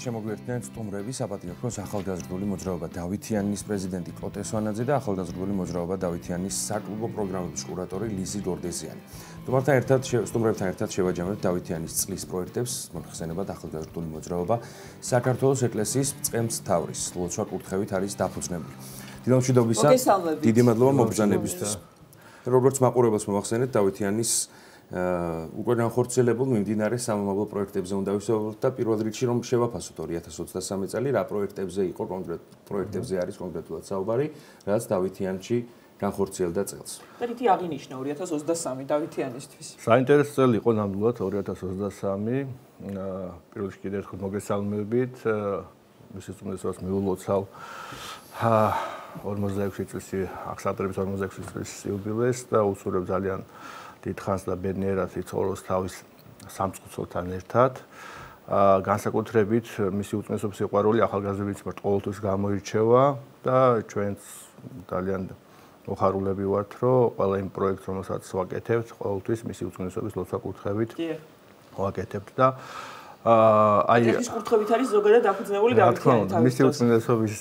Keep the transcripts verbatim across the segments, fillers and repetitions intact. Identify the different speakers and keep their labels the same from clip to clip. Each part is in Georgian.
Speaker 1: შემოგვიერთდნენ სტუმრები საპატრიარქოს ახალგაზრდული მოძრაობა დავითიანის პრეზიდენტი კოტე სვანაძე და ახალგაზრდული მოძრაობა დავითიანის საკლუბო პროგრამების კურატორი ლიზი გორდეზიანი. სტუმრებთან ერთად სტუმრებთან ერთად შევაჯამებთ დავითიანის წლის პროექტებს, მოხსენებად ახალგაზრდული მოძრაობა საქართველოს ეკლესიის წყემსთავრის ლოცვა კურთხევით არის დაფუძნებული. დილამშვიდობისა, დიდი მადლობა მობრძანებისთვის. როგორც მაყურებელს მოვახსენეთ დავითიანის უკვე განხორციელებულ მიმდინარე სამომავლო პროექტებზე უნდა ვისაუბროთ და პირველ რიგში რომ შევაფასოთ ორი ათას ოცდასამი წელი რა პროექტებზე იყო კონკრეტ პროექტებზე არის კონკრეტულად საუბარი, რაც დავითიანში განხორციელდა წელს.
Speaker 2: და რითი აღინიშნა ორი ათას ოცდასამი დავითიანისთვის?
Speaker 3: საინტერესო წელი იყო ნამდვილად ორი ათას ოცდასამი. პირველ რიგში კიდევ ერთხელ მოგესალმებით. მის უწმიდესობას მიულოცავ ორმოცდაექვსი წლის აღსაყრების ორმოცდაექვსი წლის იუბილეს და უსურვებ ძალიან დიდხანს და ბედნიერად იცხოვროს თავის სამწყուցელთან ერთად. განსაკუთრებით მისი უწმიდესობის სიყვარული ახალგაზრდების მიმართ ყოველთვის გამოირჩევა და ჩვენც ძალიან მოხარულები ვართ, რომ ყველა იმ პროექტს, რომელსაც ვაკეთებთ, ყოველთვის მისი უწმიდესობის ლოცვა კურთხევით ვაკეთებთ და
Speaker 2: აი ეს კურთხევით არის ზოგადად დაფუძნებული დავითიანის
Speaker 3: მისი უწმიდესობის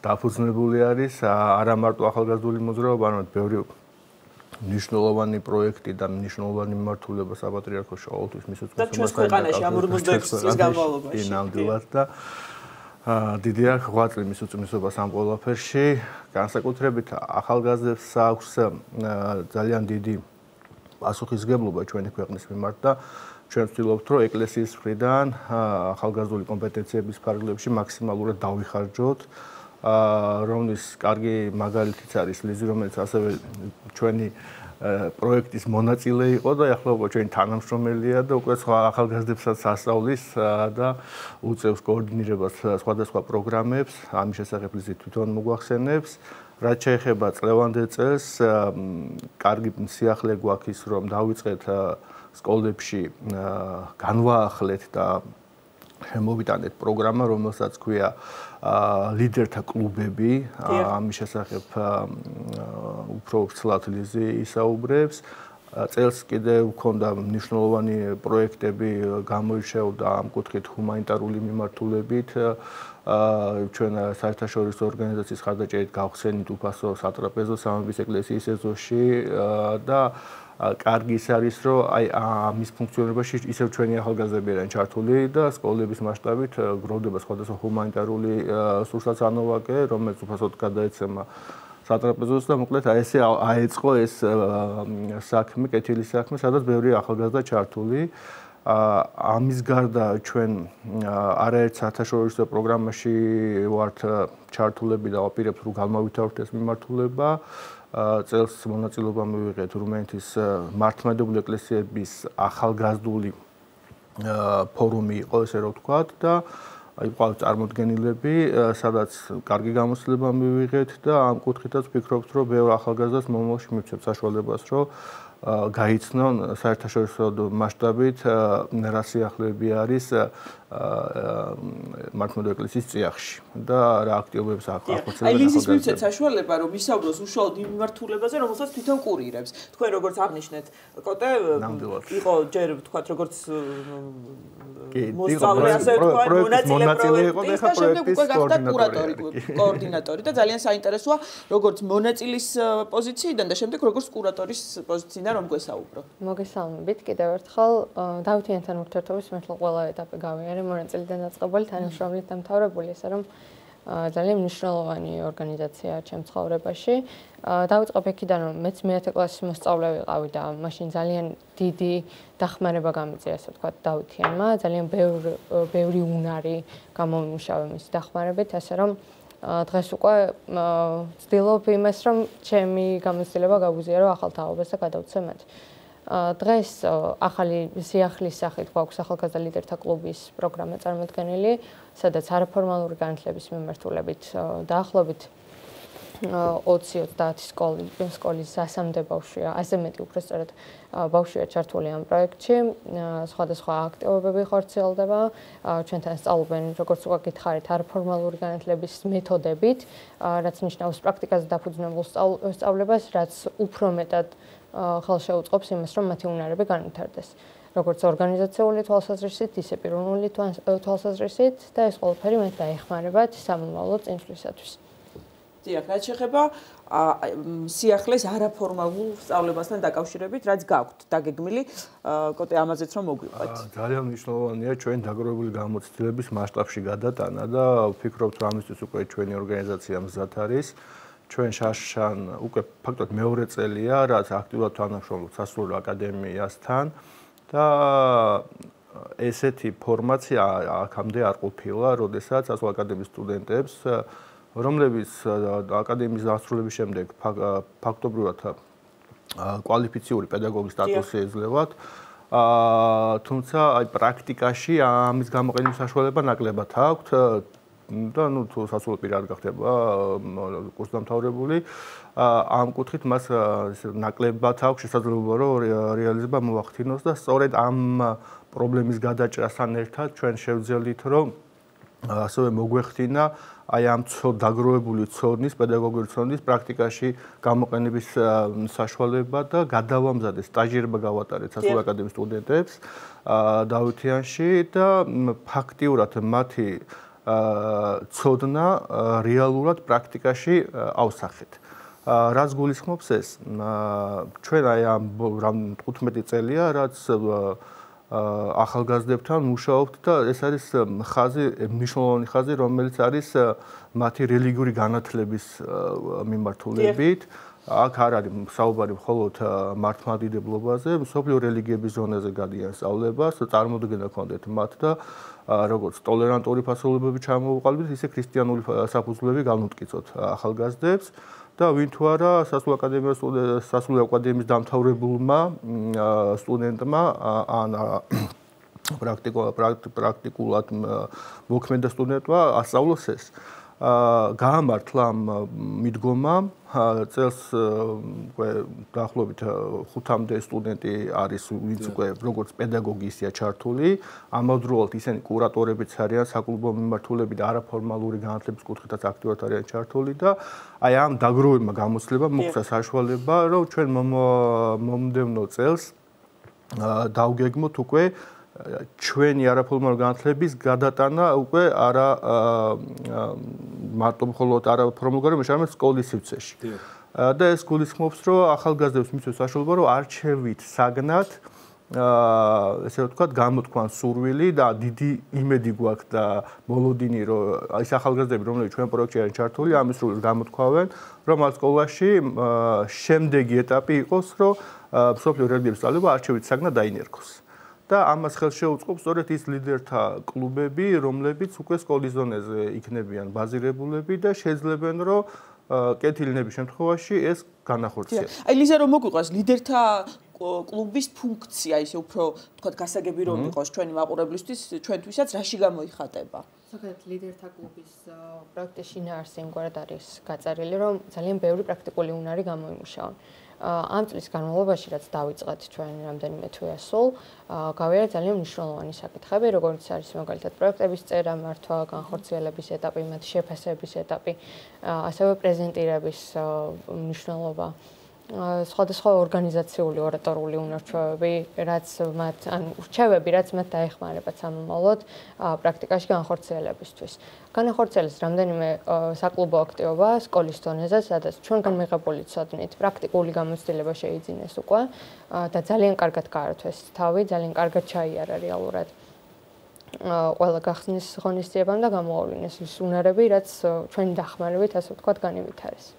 Speaker 3: დაფუძნებული არის არა მარტო ახალგაზრდული მოძრაობა, არამედ ბევრი ნიშნულოვანი პროექტი და ნიშნულოვანი მიმართულება საპატრიარქოში ყოველთვის მის უწმიდესობას
Speaker 2: და ჩვენს ქვეყანაში ამ ორმოცდაექვსი წლის განმავლობაში
Speaker 3: ნამდვილად და დიდი აქ ღვაწლი მის უწმიდესობას ამ ყველაფერში. განსაკუთრებით ახალგაზრდებს აქვს ძალიან დიდი პასუხისმგებლობა ჩვენი ქვეყნის მიმართ და ჩვენ ვცდილობთ, რომ ეკლესიის მხრიდან ახალგაზრდული კომპეტენციების ფარგლებში მაქსიმალურად დავიხარჯოთ. რომლის კარგი მაგალითიც არის ლიზი, რომელიც ასევე ჩვენი პროექტის მონაწილე იყო და ახლა უკვე ჩვენი თანამშრომელია და უკვე სხვა ახალგაზრდებსაც ასწავლის და უწევს კოორდინირებას სხვადასხვა პროგრამებს. ამის შესახებ ლიზი თვითონ მოგვახსენებს. რაც შეეხება წლევანდელ წელს, კარგი სიახლე გვაქვს ის, რომ დავიწყეთ სკოლებში განვაახლეთ და შემოვიტანეთ პროგრამა, რომელსაც ქვია ლიდერთა კლუბები. ამის შესახებ უფრო ვრცლად ლიზი ისაუბრებს. წელს კიდევ ჰქონდა მნიშვნელოვანი პროექტები გამოირჩეოდა ამ კუთხით ჰუმანიტარული მიმართულებით. ჩვენ საერთაშორისო ორგანიზაციის ხარდაჭერით გავხსენით უფასო სატრაპეზო სამების ეკლესიის ეზოში და კარგი ის არის, რომ აი ამის ფუნქციონირებაში ისევ ჩვენი ახალგაზრდები არიან ჩართული და სკოლების მასშტაბით გროვდება სხვადასხვა ჰუმანიტარული სურსათანოვაკე, რომელიც უფასოდ გადაეცემა სატრაპეზოს და მოკლედ აი ესე აეწყო ეს საქმე, კეთილი საქმე, სადაც ბევრი ახალგაზრდა ჩართული. ამის გარდა ჩვენ არაერთ საერთაშორისო პროგრამაში ვართ ჩართულები და ვაპირებთ, რომ გამავითაროთ ეს მიმართულება. წელს მონაწილეობა მივიღეთ რუმინეთის მართლმადიდებლური ეკლესიების ახალგაზრდული ფორუმი იყო, ესე რომ ვთქვათ და აი ყავს წარმოდგენილები, სადაც კარგი გამოცდილება მივიღეთ და ამ კუთხითაც ვფიქრობთ, რომ ბევრ ახალგაზრდას მომავალში მივცემთ საშუალებას, რომ გაიცნონ საერთაშორისო მასშტაბით რა სიახლეები არის მართლმადიდებლური ეკლესიის წიაღში და რა აქტივობებს ახორციელებს.
Speaker 2: აი ლიზის მივცეთ საშუალება, რომ ისაუბროს უშუალოდ იმ მიმართულებაზე, რომელსაც თვითონ კურირებს. თქვენ როგორც აღნიშნეთ, კოტე იყო ჯერ ვთქვათ, როგორც მოსწავლე, ასე ვთქვათ, მონაწილე პროექტის და შემდეგ უკვე გახდა კურატორი, კოორდინატორი და ძალიან საინტერესოა, როგორც მონაწილის პოზიციიდან და შემდეგ როგორც კურატორის პოზიციიდან რომ გვესაუბრო.
Speaker 4: მოგესალმებით კიდევ ერთხელ. დავითიანთან ურთიერთობის მართლა ყველა ეტაპი გავიარე, მონაწილიდან დაწყებული, თანამშრომლით დამთავრებული, ესე რომ ძალიან მნიშვნელოვანი ორგანიზაციაა ჩემს ცხოვრებაში. დავიწყებ იქიდან, რომ მეც მეათე კლასის მოსწავლე ვიყავი და მაშინ ძალიან დიდი დახმარება გამიწია, ასე ვთქვათ, დავითიანმა. ძალიან ბევრი ბევრი უნარი გამომიმუშავა მის დახმარებით, ასე რომ დღეს უკვე ვცდილობ იმას, რომ ჩემი გამოცდილება გავუზიარო ახალ თაობას და გადავცე მათ. დღეს ახალი სიახლის სახით გვაქვს ახალგაზრდა ლიდერთა კლუბის პროგრამა წარმოდგენილი, სადაც არაფორმალური განათლების მიმართულებით დაახლოებით ოცი ოცდაათი სკოლის სკოლის ასამდე ბავშვია, ასე მეტი უბრალოდ ბავშვია ჩართული ამ პროექტში. სხვადასხვა აქტივობები ხორციელდება. ჩვენთან სწავლობენ, როგორც უკვე გითხარით, არაფორმალური განათლების მეთოდებით, რაც ნიშნავს პრაქტიკაზე დაფუძნებულ სწავლებას, რაც უფრო მეტად ხელშეუწყობს იმას, რომ მათი უნარები განვითარდეს. როგორც ორგანიზაციული თვალსაზრისით, ისე პიროვნული თვალსაზრისით და ეს ყველაფერი მათ დაეხმარებათ სამომავლო წინსვლისათვის.
Speaker 2: დიახ, რაც შეეხება სიახლეს არაფორმალურ სწავლებასთან დაკავშირებით, რაც გაქვთ დაგეგმილი, კოტე ამაზეც რომ მოგვიყვეთ.
Speaker 3: ძალიან მნიშვნელოვანია ჩვენ დაგროვებული გამოცდილების მასშტაბში გადატანა და ვფიქრობთ, რომ ამისთვის უკვე ჩვენი ორგანიზაცია მზად არის. ჩვენ შაშან უკვე ფაქტობრივად მეორე წელია, რაც აქტიურად თანამშრომლობთ სასულიერო აკადემიასთან და ესეთი ფორმაცია აქამდე არ ყოფილა, როდესაც სასულიერო აკადემიის სტუდენტებს რომლებიც აკადემიის დასრულების შემდეგ ფაქტობრივად კვალიფიციური პედაგოგის სტატუსი ეძლევათ, თუმცა აი პრაქტიკაში ამის გამოყენების საშუალება ნაკლებად აქვთ და ნუ თუ სასულიერო პირი არ გახდება კურსდამთავრებული, ამ კუთხით მას ნაკლებად აქვს შესაძლებლობა რომ რეალიზება მოახდინოს და სწორედ ამ პრობლემის გადაჭრასთან ერთად ჩვენ შევძელით რომ ასევე მოგვეხდინა აი ამ დაგროვებული ცოდნის, პედაგოგიური ცოდნის პრაქტიკაში გამოყენების საშუალება და გადავამზადეთ სტაჟირება გავატარეთ სასულიერო აკადემიის სტუდენტებს დავითიანში და ფაქტიურად მათი ცოდნა რეალურად პრაქტიკაში ავსახეთ. რაც გულისხმობს ეს, ჩვენ აი ამ თხუთმეტი წელია, რაც ახალგაზრდებთან მუშაობთ და ეს არის ხაზი, მნიშვნელოვანი ხაზი, რომელიც არის მათი რელიგიური განათლების მიმართულებით. აქ არ არის საუბარი მხოლოდ მართლმადიდებლობაზე, მსოფლიო რელიგიების ზონაზე გადიან სწავლებას, წარმოდგენა ჰქონდეთ მათ და როგორც ტოლერანტული ფასეულობები ჩამოვუყალიბდეთ, ისე ქრისტიანული საფუძვლები განუტკიცოთ ახალგაზრდებს. და ვინ თუ არა სასულიერო აკადემიის სასულიერო აკადემიის დამთავრებულმა სტუდენტმა ან პრაქტიკულად მოქმედა სტუდენტმა ასწავლოს ეს. გაამართლა მიდგომამ წელს უკვე დაახლოებით ხუთამდე სტუდენტი არის, ვინც უკვე როგორც პედაგოგი ისეა ჩართული, ამავდროულად ისინი კურატორებიც არიან, საკლუბო მიმართულები და არაფორმალური განათლების კუთხითაც აქტიურად არიან ჩართული და აი ამ დაგროვებმა გამოცდილებამ მოხდა საშუალება, რომ ჩვენ მომდევნო წელს დავგეგმოთ უკვე ჩვენი არაფორმალური განათლების გადატანა უკვე არა მარტო მხოლოდ არაფორმალური, არამედ სკოლის სივრცეში. და ეს გულისხმობს, რომ ახალგაზრდებს მისცეს საშუალება, რომ არჩევით საგნად ესე ვთქვათ, გამოთქვან სურვილი და დიდი იმედი გვაქვს და მოლოდინი, რომ ის ახალგაზრდები, რომლებიც ჩვენ პროექტში არიან ჩართული, ამის სურვილს გამოთქვავენ, რომ ამ სკოლაში შემდეგი ეტაპი იყოს, რომ მსოფლიო რელიგიების სწავლება არჩევით საგნად დაინერგოს. და ამას ხელს შეუწყობს სწორედ ის ლიდერთა კლუბები, რომლებიც უკვე სკოლის ზონაზე იქნებიან ბაზირებულები და შეძლებენ, რომ კეთილინების შემთხვევაში ეს განახორციელოს.
Speaker 2: აი ლიზა რომ მოგვიყვას ლიდერთა კლუბის ფუნქცია, ისე უფრო თქვა გასაგები რომ იყოს ჩვენი მაყურებლისთვის, ჩვენთვისაც რაში გამოიხატება?
Speaker 4: ზოგადად ლიდერთა კლუბის პროექტის შინაარსი იმგვარად არის გაწერილი, რომ ძალიან ბევრი პრაქტიკული უნარი გამოიმუშავა. ამ წლის განმავლობაში, რაც დავიწყეთ ჩვენ რამდენიმე თვე ასულ, გავიარეთ ძალიან მნიშვნელოვანი საკითხები, როგორც არის მაგალითად პროექტების წერა, მართვა, განხორციელების ეტაპი, მათ შეფასების ეტაპი, ასევე პრეზენტირების მნიშვნელობა. სხვადასხვა ორგანიზაციული ორატორული უნარჩვევები, რაც მათ ან ურჩევები, რაც მათ დაეხმარებათ სამომავლოდ პრაქტიკაში განხორციელებისთვის. განახორციელეს რამდენიმე საკლუბო აქტივობა სკოლის დონეზე, სადაც ჩვენგან მიღებული ცოდნით პრაქტიკული გამოცდილება შეიძინეს უკვე და ძალიან კარგად გაართვეს თავი, ძალიან კარგად ჩაიარა რეალურად ყველა გახსნის ღონისძიებამ და გამოავლინეს ის უნარები, რაც ჩვენი დახმარებით, ასე ვთქვათ, განივითარეს.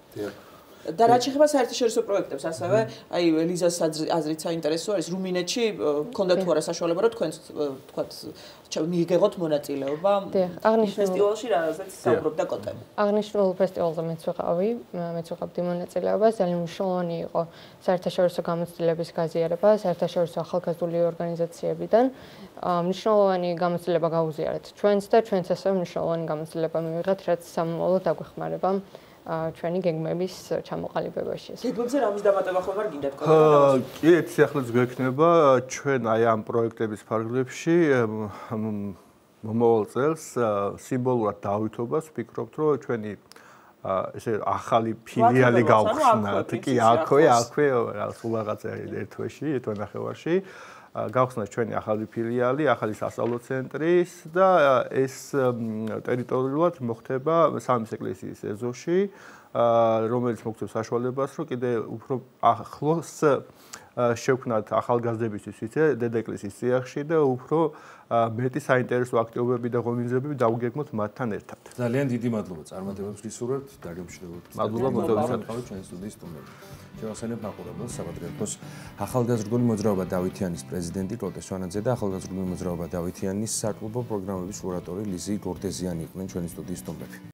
Speaker 2: და რაც შეეხება საერთაშორისო პროექტებს, ასევე აი ლიზას აზრით საინტერესო არის რუმინეთში ქონდა თუ არა საშუალება, რომ თქვენ ვთქვათ მიიღოთ მონაწილეობა ფესტივალში, რაზეც საუბრობდა კოტე.
Speaker 4: აღნიშნულ ფესტივალზე მეც ვიყავი, მეც ვიყავდი მონაწილეობას, ძალიან მნიშვნელოვანი იყო საერთაშორისო გამოცდილების გაზიარება საერთაშორისო ახალგაზრდული ორგანიზაციებიდან. მნიშვნელოვანი გამოცდილება გაუზიარეთ ჩვენც და ჩვენც ასევე მნიშვნელოვანი გამოცდილება მივიღეთ, რაც სამომავლოდ დაგვეხმარება ჩვენი გეგმების ჩამოყალიბებაში.
Speaker 2: გეგმებზე რამის დამატება ხომ არ გინდათ კოტე?
Speaker 3: კი, ეს ახლა გვექნება ჩვენ აი ამ პროექტების ფარგლებში მომავალ წელს სიმბოლურად დავითობას, ვფიქრობთ, რომ ჩვენი ესე ახალი ფილიალი გავხსნათ. კი, აქვე, აქვე, სულ რაღაცა ერთ თვეში, ერთ ნახევარში. გავხსნათ ჩვენი ახალი ფილიალი, ახალი სასწავლო ცენტრის და ეს ტერიტორიულად მოხდება სამის ეკლესიის ეზოში, რომელიც მოგცემს საშუალებას, რომ კიდე უფრო ახლოს შევქმნათ ახალგაზრდებისთვის ისე დედაეკლესიის წიაღში და უფრო მეტი საინტერესო აქტივობები და ღონისძიებები დავუგეგმოთ მათთან ერთად.
Speaker 1: ძალიან დიდი მადლობა წარმატებებს გისურვებთ, დაგემშვიდობოთ.
Speaker 3: მადლობა მოდევისად
Speaker 1: ჩვენი სტუდიის სტუმრები. შევახსენებთ მაყურებელს საპატრიარქოს ახალგაზრდული მოძრაობა დავითიანის პრეზიდენტი კლოტე სვანაძე და ახალგაზრდული მოძრაობა დავითიანის საკლუბო პროგრამების კურატორი ლიზი გორდეზიანი იყვნენ ჩვენი სტუდიის სტუმრები.